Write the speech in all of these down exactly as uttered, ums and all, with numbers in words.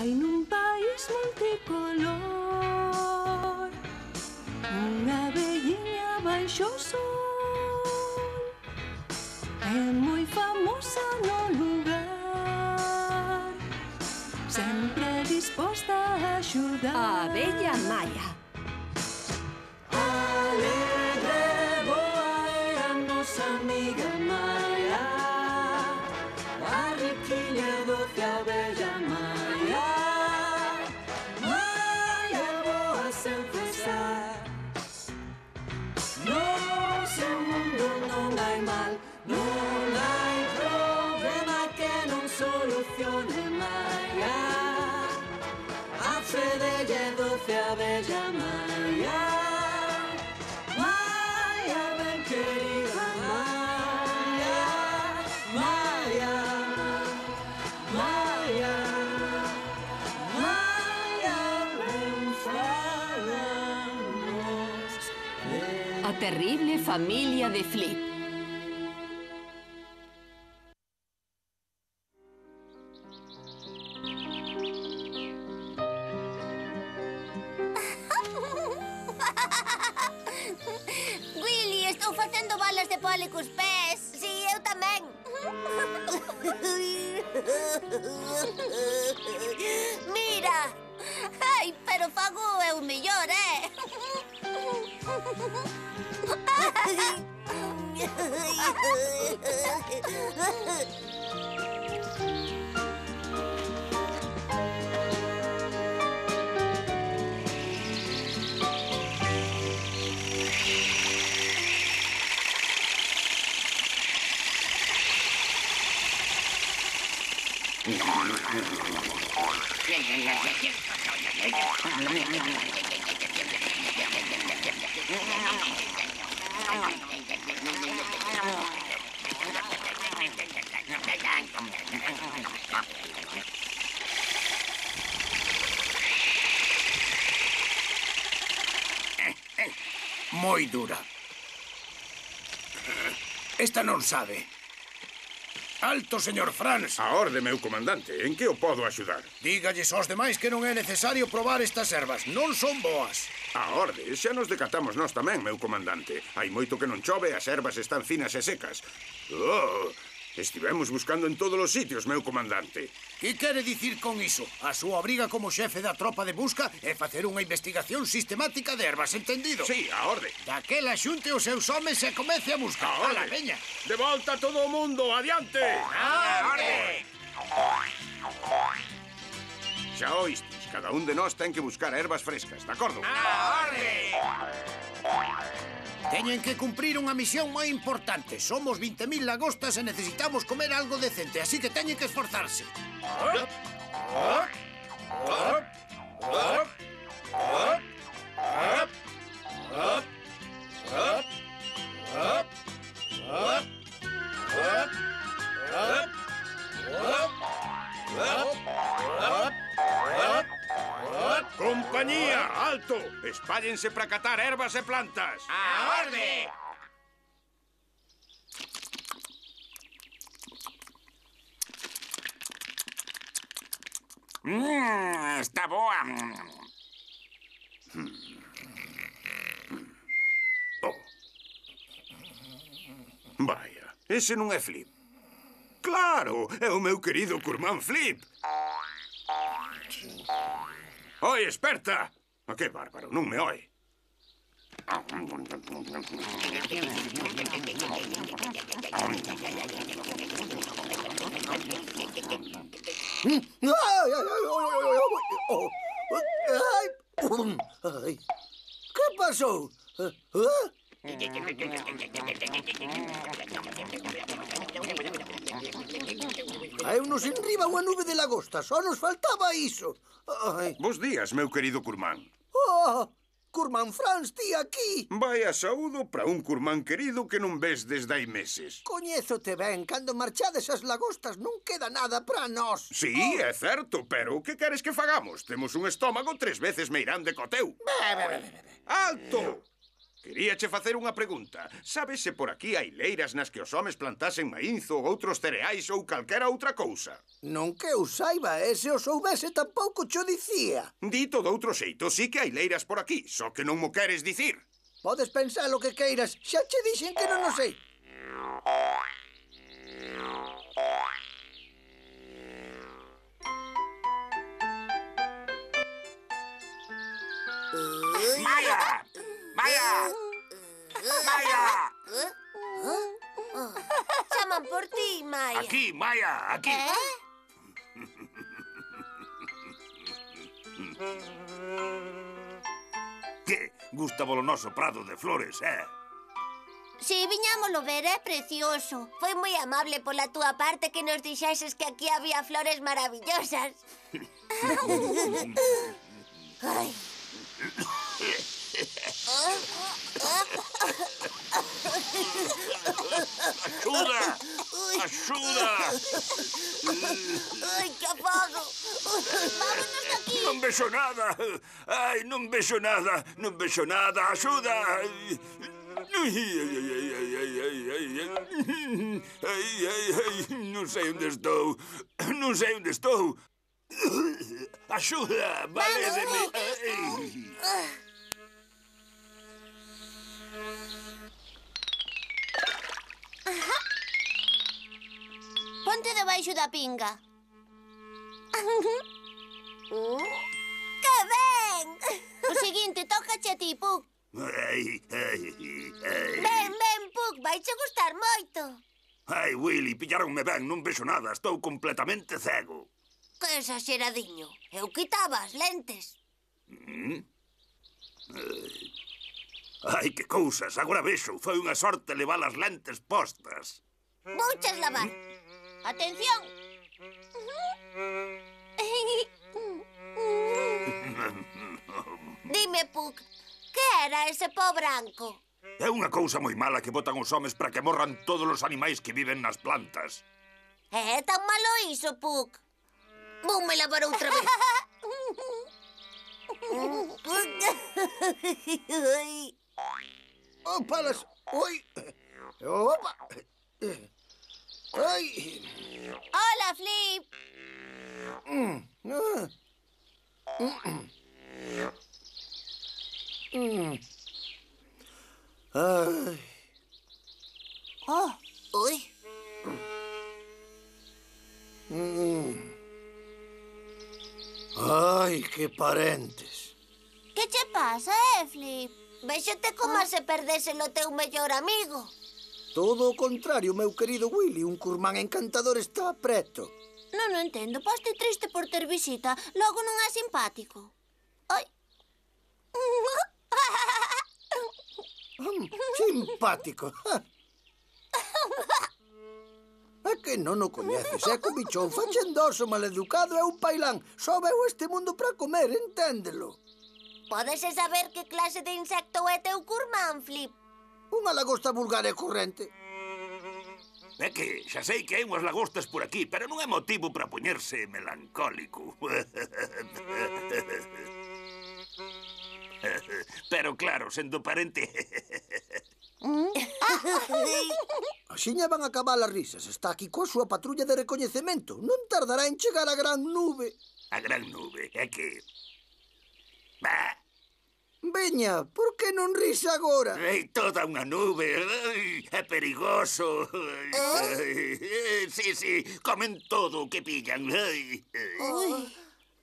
Hai nun país multicolor unha velliña baixo o sol. É moi famosa no lugar, sempre disposta a axudar. A abella Maya. Alegre, boa é a nosa amiga Maya, a riquiña doce abella Maya. Maya boa sen cesar, no seu mundo non hai mal, non hai problema que non solucione Maya. A fe delle doce abella Maya. Maya, ben querida Maya. Maya, Maya, Maya, ben falamos de... A terrible familia de Flip. Willy, estou facendo balas de poli cos pés. Si, eu tamén. Mira. Ai, pero fago eu mellor, eh? Moi dura. Esta non sabe. Alto, señor Franz. A orde, meu comandante. En que o podo axudar? Dígalles aos demais que non é necesario probar estas ervas. Non son boas. A orde. Xa nos decatamos nós tamén, meu comandante. Hai moito que non chove e as ervas están finas e secas. Oh, estivemos buscando en todos os sitios, meu comandante. Que quere dicir con iso? A súa obriga como xefe da tropa de busca é facer unha investigación sistemática de ervas, entendido? Sí, a orde. Daquela xunte os seus homes e comece a buscar. A orde. Ala, veña. De volta todo o mundo, adiante. A orde. Xa oístes, cada un de nós ten que buscar ervas frescas, de acordo? A orde. Teñen que cumprir unha misión moi importante. Somos vinte mil lagostas e necesitamos comer algo decente, así que teñen que esforzarse. Compañía, alto! Espállense para catar ervas e plantas. A orde. Mmm, está boa. Oh. Vaya, ese non é Flip. Claro, é o meu querido curmán Flip. Oi, esperta! A que bárbaro, non me oi. Que pasou? Caeunos enriba unha nube de lagosta, só nos faltaba iso. Ai. Bos días, meu querido curmán. Oh, curmán Franz, ti aquí. Vaya saúdo para un curmán querido que non ves desde hai meses. Coñézote ben, cando marchades as lagostas non queda nada para nós. Sí, oh. É certo, pero que queres que fagamos? Temos un estómago tres veces meirande co teu. Be, be, be, be, be. Alto! Queríache facer unha pregunta. Sabes se por aquí hai leiras nas que os homes plantasen maízo ou outros cereais ou calquera outra cousa? Non que eu saiba, e se o soubese tampouco cho dicía. Dito doutro xeito, sí que hai leiras por aquí, só que non mo queres dicir. Podes pensar o que queiras, xa che dixen que non o sei. Maia! Maia! Maia! Chaman por ti, Maia. Aquí, Maia, aquí. Eh? Que? Gusta o noso prado de flores, eh? Si, viñámolo ver, é precioso. Foi moi amable pola túa parte que nos dixeses que aquí había flores maravillosas. Ai. Axuda! Axuda! Ai, que afago. Vámonos de aquí. Non vexo nada! Ai, non vexo nada! Non vexo nada! Axuda! Ai, ai, ai, ai, ai, ai, ai, ai. Ai, ai, ai, non sei onde estou. Non sei onde estou. Axuda! Valédeme! Ai. Ponte debaixo da pinga. Que ben! O seguinte, tócache a ti, Puck. Ai, ai, ai. Ben, ben, Puck, vaiche gustar moito. Ai, Willy, pillaronme ben, non vexo nada, estou completamente cego. Que exageradiño. Eu quitaba as lentes. Ai, que cousas, agora vexo, foi unha sorte levar as lentes postas. Vouches lavar. Atención. Dime, Puck, que era ese pó branco? É unha cousa moi mala que botan os homes para que morran todos os animais que viven nas plantas. É tan malo iso, Puck. Voume lavar outra vez. Opa, las... Oi. Opa. Ai. Hola, Flip. Mm. Ah. Mm. Mm. Ai. Oh, ui. Mm. Ai, que parentes. Que che pasa, eh, Flip? Véxote como se perdese o teu mellor amigo. Todo o contrario, meu querido Willy. Un curmán encantador está preto. Non o entendo. Paste triste por ter visita. Logo non é simpático. Ai. Mm, simpático. É que non o coñeces. É que o bichón fachendoso, maleducado e un pailán. Só veu este mundo para comer, enténdelo. Podese saber que clase de insecto é teu curmán, Flip? Unha lagosta vulgar e corrente. É que xa sei que hai unhas lagostas por aquí, pero non é motivo para poñerse melancólico. Pero claro, sendo parente... Axiña van a acabar as risas. Está aquí coa súa patrulla de recoñecemento. Non tardará en chegar a gran nube. A gran nube, é que... Bah, Veña, por que non ris agora? hai toda unha nube, ai, é perigoso. Ai, ai, sí, sí, comen todo o que pillan. Ai, ai. Ui.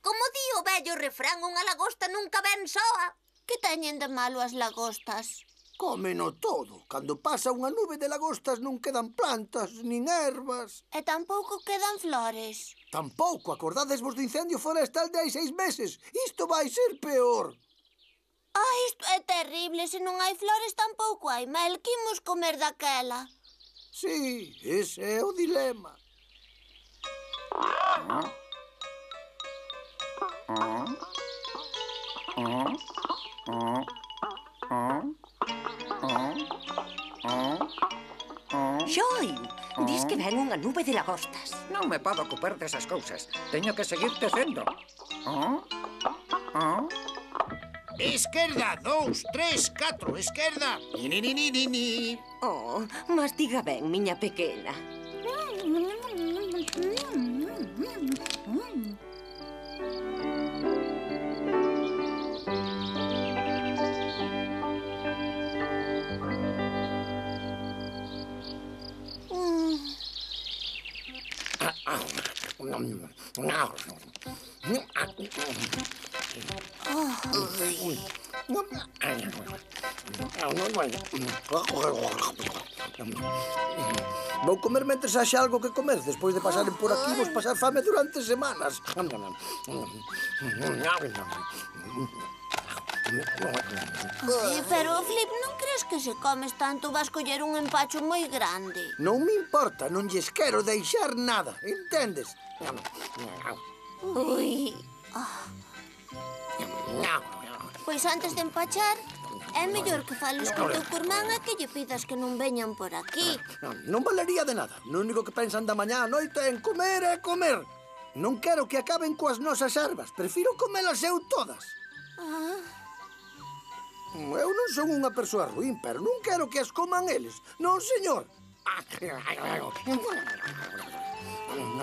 Como di o vello refrán, unha lagosta nunca ven soa. Que teñen de malo as lagostas? Cómeno todo. Cando pasa unha nube de lagostas non quedan plantas, nin ervas. E tampouco quedan flores. Tampouco acordadesvos do incendio forestal de hai seis meses. Isto vai ser peor. Ah, isto é terrible. Se non hai flores, tampouco hai mel. Que imos comer daquela? Sí, ese é o dilema. Xoi, dis que ven unha nube de lagostas. Non me podo ocupar desas cousas. Teño que seguir tecendo. Oh? Oh? Esquerda, dous, tres, catro, esquerda. Ni, ni, ni, ni, ni, ni. Oh, mastiga ben, miña pequena. Vou comer mentres haxa algo que comer. Despois de pasaren por aquí, vos pasar fame durante semanas. Ai, pero, Flip, non crees que se comes tanto vas coller un empacho moi grande? Non me importa, non lles quero deixar nada, entendes? Ui. Pois antes de empachar, é mellor que fales co teu curmán e que lle pidas que non veñan por aquí. Non valería de nada. No único que pensan da mañá a noite é en comer e comer. Non quero que acaben coas nosas ervas. Prefiro comelas eu todas. Ah. Eu non son unha persoa ruín, pero non quero que as coman eles. Non, señor.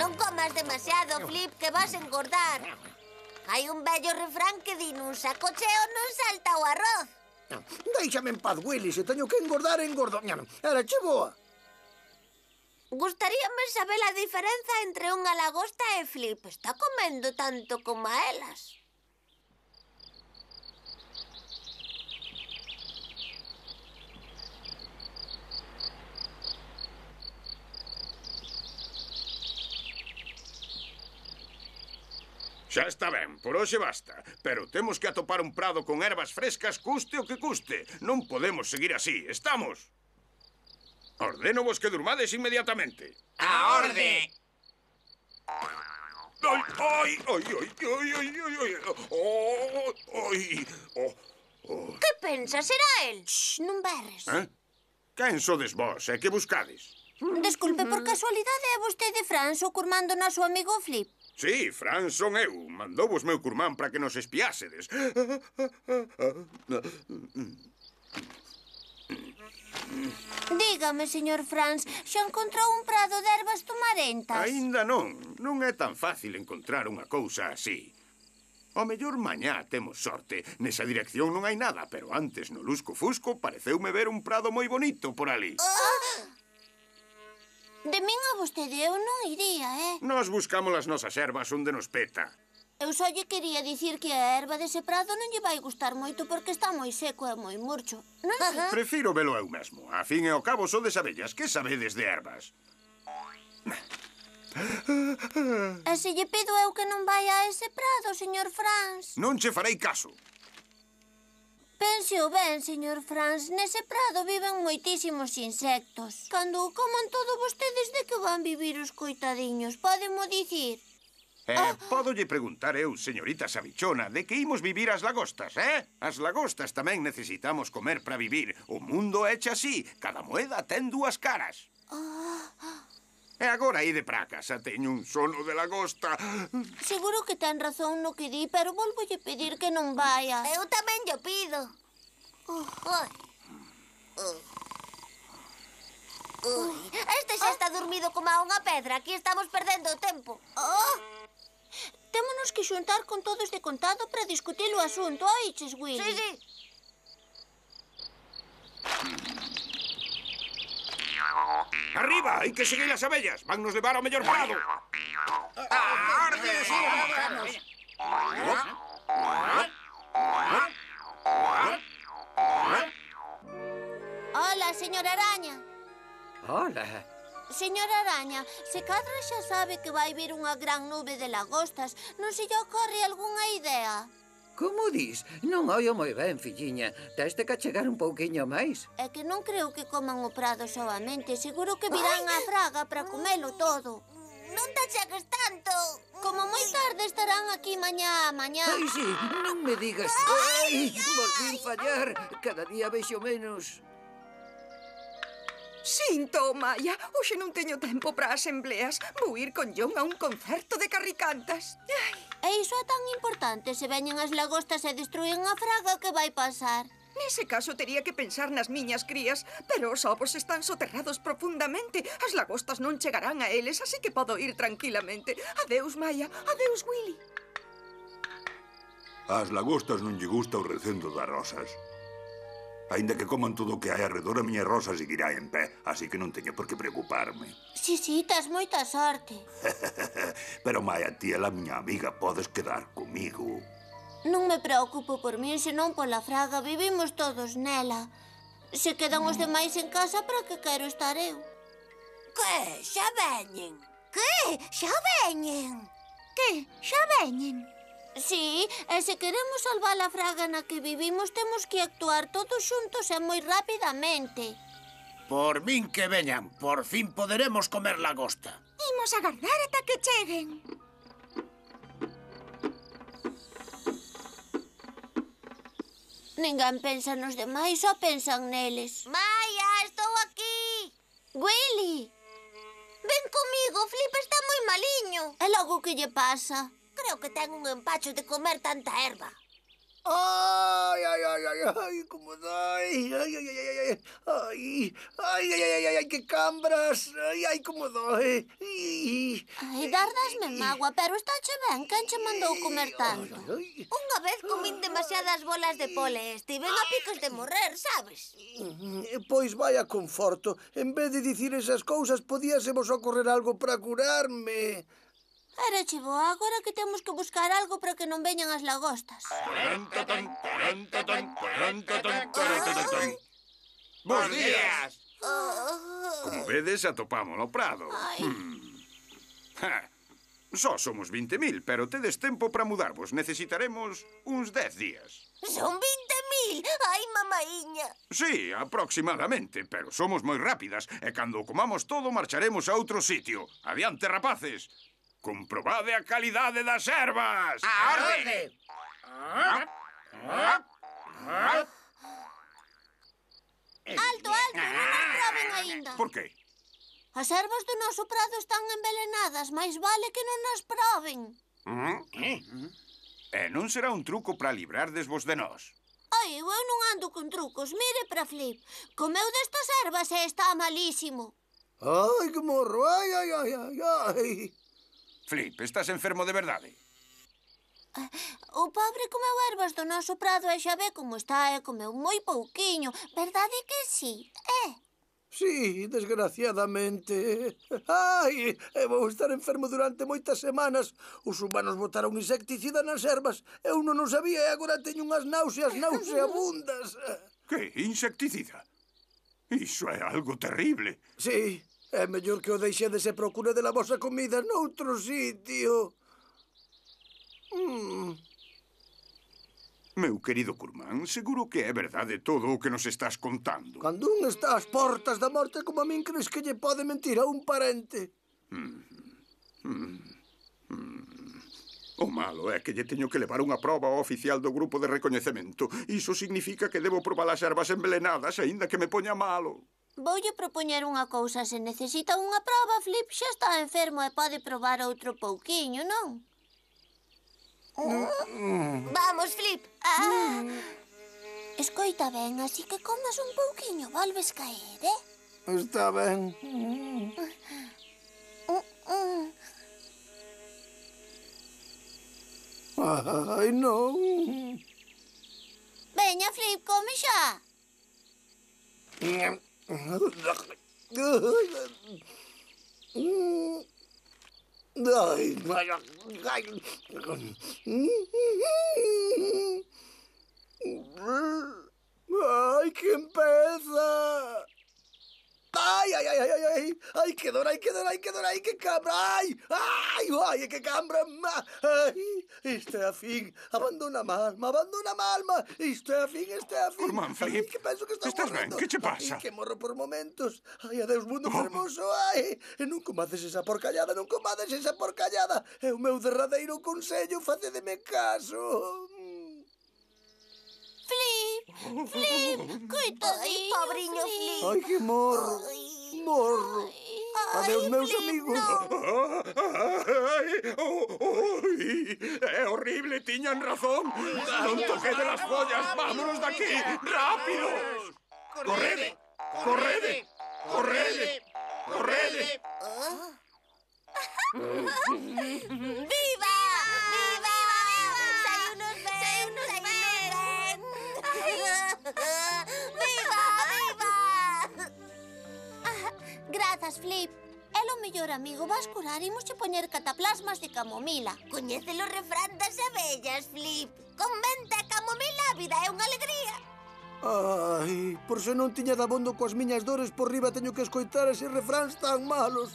Non comas demasiado, Flip, que vas engordar. Hai un vello refrán que di nun saco cheo non salta o arroz. Déixame en paz, Willy. Se teño que engordar, engordo. Era che boa. Gustaríame saber a diferenza entre unha lagosta e Flip. Está comendo tanto como a elas. Xa está ben, por hoxe basta. Pero temos que atopar un prado con ervas frescas, custe o que custe. Non podemos seguir así, estamos? Ordeno vos que durmades inmediatamente. A orde! Ai, ai, ai, ai, ai, ai, ai, ai, oh, ai, oh, oh. Que pensas? Será el? Shh, non berres. Eh? Quen sodes vos e que buscades? Desculpe, por casualidade é vostede Franz o curmán do noso amigo Flip? Sí, Fran son eu. Mandou vos meu curmán para que nos espiásedes. Dígame, señor Franz, xa encontrou un prado de ervas tomarentas? Aínda non. Non é tan fácil encontrar unha cousa así. O mellor mañá temos sorte. Nesa dirección non hai nada, pero antes no lusco-fusco pareceume ver un prado moi bonito por ali. Oh! De min a vostede eu non iría, eh? Nos buscamos as nosas ervas onde nos peta. Eu só lle quería dicir que a erva dese prado non lle vai gustar moito porque está moi seco e moi murcho. Non sei. Prefiro velo eu mesmo. A fin e ao cabo sodes abellas. Que sabedes de ervas? E se lle pido eu que non vai a ese prado, señor Franz? Non che farei caso. Pense o ben, señor Franz, nese prado viven moitísimos insectos. Cando o coman todo vostedes, de que van vivir os coitadiños? Pódemo dicir? Eh, ah. Pódolle preguntar eu, señorita Sabichona, de que imos vivir as lagostas, eh? As lagostas tamén necesitamos comer para vivir. O mundo é hecho así, cada moeda ten dúas caras. Ah. E agora ide pra casa, teño un sono de lagosta. Seguro que ten razón no que di, pero volvolle pedir que non vaya. Eu tamén lle pido. Uh, uh. Uh. Uh. Este xa está dormido como a unha pedra. Aquí estamos perdendo o tempo. Oh. Témonos que xuntar con todos de contado para discutir o asunto, oiches, Willy? Sí, sí. Arriba, hai que seguir as abellas. Van nos levar ao mellor prado. A orde, sí, vamos. Hola, señor Araña. Hola. Señor Araña, se cadra xa sabe que vai vir unha gran nube de lagostas, non se lle ocorre algunha idea? Como dis? Non oio moi ben, filliña. Teste que chegar un pouquiño máis. É que non creo que coman o prado soamente. Seguro que virán a fraga para comelo todo. Non te achegues tanto. Como moi tarde estarán aquí mañá a mañá. Ai, sí, non me digas. Ai, volvín fallar. Cada día vexo menos. Sinto, Maya. Hoxe non teño tempo para asembleas. Vou ir con John a un concerto de carricantas. Ai. E E iso é tan importante. Se veñen as lagostas e destruen a fraga, que vai pasar? Nese caso tería que pensar nas miñas crías, pero os ovos están soterrados profundamente. As lagostas non chegarán a eles, así que podo ir tranquilamente. Adeus, Maya. Adeus, Willy. Ás lagostas non lle gusta o recendo das rosas. Ainda que coman todo o que hai arredor, a miña rosa seguirá en pé, así que non teño por que preocuparme. Si, si, tas moita sorte. Pero, Maya, ti é a miña amiga, podes quedar comigo. Non me preocupo por min, senón pola fraga. Vivimos todos nela. Se quedan os demais en casa, para que quero estar eu? Que? Xa veñen? Que? Xa veñen? Que? Xa veñen? Sí, e se queremos salvar a fraga na que vivimos, temos que actuar todos xuntos e moi rapidamente. Por min que veñan, por fin poderemos comer lagosta. Imos agardar ata que cheguen. Ninguén pensa nos demais, só pensan neles. Maya, estou aquí. Willy! Ven comigo, Flip está moi maliño. E logo que lle pasa? Creo que ten un empacho de comer tanta erva. Ai, ai, ai, ai, ai, como dói. Ai, ai, ai, ai, ai, ai, ai, ai, ai, ai, ai, que cambras. Ai, ai, como dói. Ai, Ai, dardasme mágoa, pero estáche ben, quen che mandou comer tanto? Unha vez comín demasiadas bolas de pole, estiven a picos de morrer, sabes? Pois vaya conforto. En vez de dicir esas cousas, podíasemos ocorrer algo para curarme. Era chivo, agora que temos que buscar algo para que non veñan as lagostas. Bos días! Como vedes, atopamos no prado. Hmm. Ja. Só somos vinte mil, pero tedes tempo para mudarvos. Necesitaremos uns dez días. Son vinte mil? Ai, mamaíña. Sí, aproximadamente, pero somos moi rápidas e cando comamos todo marcharemos a outro sitio. Adiante, rapaces! Comprobade a calidade das ervas! A orde! Alto, alto, non nos proben aínda. Por qué? As ervas do noso prado están envelenadas, máis vale que non nas proben. E non será un truco para librardesvos de nós. Ai, eu non ando con trucos. Mire para Flip. Comeu destas ervas e está malísimo. Ai, que morro. Ai, ai, ai, ai, ai. Flip, estás enfermo de verdade? O pobre comeu ervas do noso prado e xa ve como está e comeu moi pouquiño. Verdade que sí, é? Sí, desgraciadamente. Ai, eu vou estar enfermo durante moitas semanas. Os humanos botaron insecticida nas ervas. Eu non o sabía e agora teño unhas náuseas nauseabundas. Que? Insecticida? Iso é algo terrible. Sí, é mellor que o deixedes e procure de la vosa comida noutro sitio. Mm. Meu querido Curmán, seguro que é verdade todo o que nos estás contando. Cando un está ás portas da morte como a min, crees que lle pode mentir a un parente? Mm. Mm. Mm. O malo é que lle teño que levar unha proba ao oficial do grupo de recoñecemento. Iso significa que debo probar as ervas envelenadas, aínda que me poña malo. Voulle propoñer unha cousa. Se necesita unha proba, Flip xa está enfermo e pode probar outro pouquiño, non? Vamos, Flip. Ah. Escoita ben, así que comas un pouquiño, volves caer, eh? Está ben. Ai, non. Veña, Flip, come xa. Ai, ai, ai. Ai, que empeza. Ai, ai, ai, ai, ai, ai, ai, que dor, ai, que dor, ai, que dor, ai, que cambra, ai, ai, ai, que cambra, ai, isto é a fin, abandona a alma, abandona a alma, isto é a fin, isto é a fin. Curmán, Flip, ai, que penso que estou estás ben, morrendo. que che pasa? Ai, que morro por momentos, ai, adeus, mundo Oh. fermoso, ai, e non comades esa porcallada, non comades esa porcallada, é o meu derradeiro consello, facedeme caso. Flip, Flip, coitadinho, pobriño Flip. Ai, que morro, morro. Adeus, meus amigos. Ai, oh, oi, é que tiñan razón. Non toquede las follas, vámonos de aquí, rápido. Correde, correde, correde, correde. ¡Viva! ¡Viva! ¡Sai unos ben! ¡Sai unos ben! ¡Viva! ¡Viva! Grazas, Flip. É o mellor amigo vas curar, imos che poñer cataplasmas de camomila. Coñece o refrán das abellas, Flip. Con venta e camomila a vida é unha alegría. Ai, por se non tiña dabondo coas miñas dores por riba teño que escoitar eses refráns tan malos.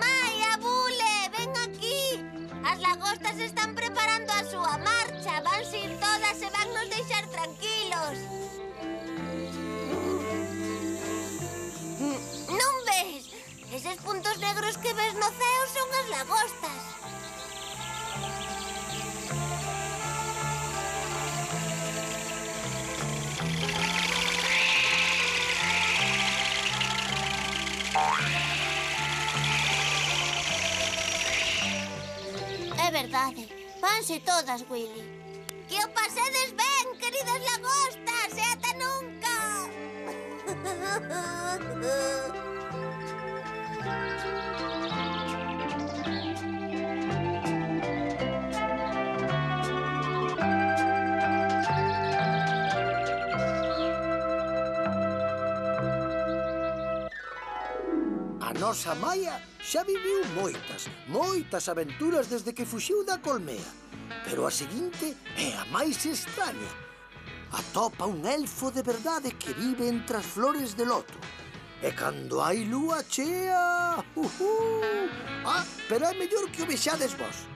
Maia, Bule, ven aquí. As lagostas están preparando a súa marcha. Vanse ir todas e van nos deixar tranquilos. Non ves? Eses puntos negros que ves no ceo son as lagostas. É verdade, vanse todas, Willy. Que o pasedes ben, queridas lagostas, e ata nunca. A nosa Maia xa viviu moitas, moitas aventuras desde que fuxiu da colmea. Pero a seguinte é a máis extraña. Atopa un elfo de verdade que vive entre as flores de loto. E cando hai lúa chea... Uh -huh. Ah, pero é mellor que o vexades vos.